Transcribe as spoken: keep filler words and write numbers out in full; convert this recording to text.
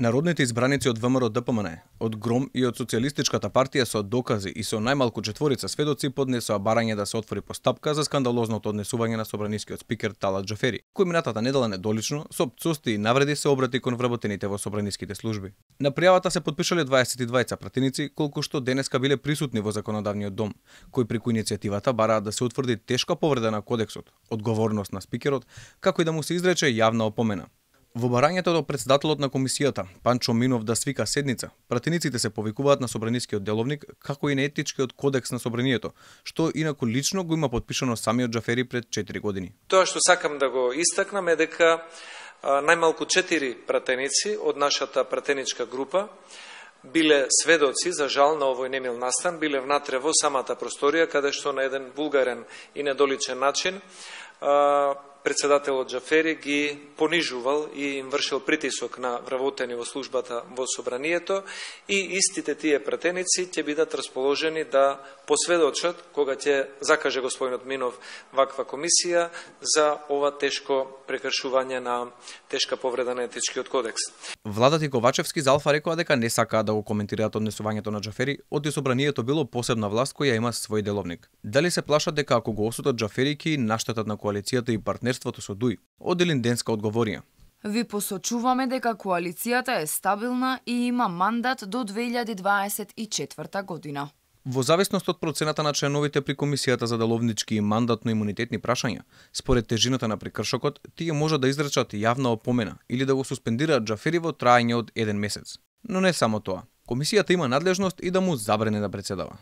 Народните избраници од ВМРО Д П М Н, од ГРОМ и од Социјалистичката партија со докази и со најмалку четворица сведоци поднесоа барање да се отвори постапка за скандалозното однесување на собранискиот спикер Талат Џафери, кој минатата недела недолично со пцусти и навреди се обрати кон вработените во собраниските служби. На пријавата се потпишале дваесет и дваица пратеници, колку што денеска биле присутни во законодавниот дом, кои преку иницијативата бараат да се утврди тешка повреда на кодексот, одговорност на спикерот, како и да му се изрече јавна опомена. Во барањето до претседателот на комисијата, Панчо Минов, да свика седница, пратениците се повикуваат на собранискиот деловник, како и на етичкиот кодекс на собранието, што инаку лично го има подпишано самиот Џафери пред четири години. Тоа што сакам да го истакнам е дека најмалку четири пратеници од нашата пратеничка група биле сведоци, за жал, на овој немил настан, биле внатре во самата просторија, каде што на еден вулгарен и недоличен начин председателот Џафери ги понижувал и им вршил притисок на вработени во службата во собранието, и истите тие пратеници ќе бидат расположени да посведочат кога ќе закаже господинот Минов ваква комисија за ова тешко прекршување на тешка повреда на етичкиот кодекс. Владата и Ковачевски залфа рекоа дека не сакаат да го коментираат однесувањето на Џафери, оти собранието било посебна власт која има свој деловник. Дали се плашат дека ако го осудат Џафери ќе наштетат на коалицијата и партнерството со ДУИ? Оделин Денска одговорија. Ви посочуваме дека коалицијата е стабилна и има мандат до две илјади дваесет и четврта година. Во зависност од процената на членовите при комисијата за деловнички и мандатно-имунитетни прашања, според тежината на прекршокот, тие може да изречат јавна опомена или да го суспендираат Џафери во траење од еден месец. Но не само тоа. Комисијата има надлежност и да му забране да претседава.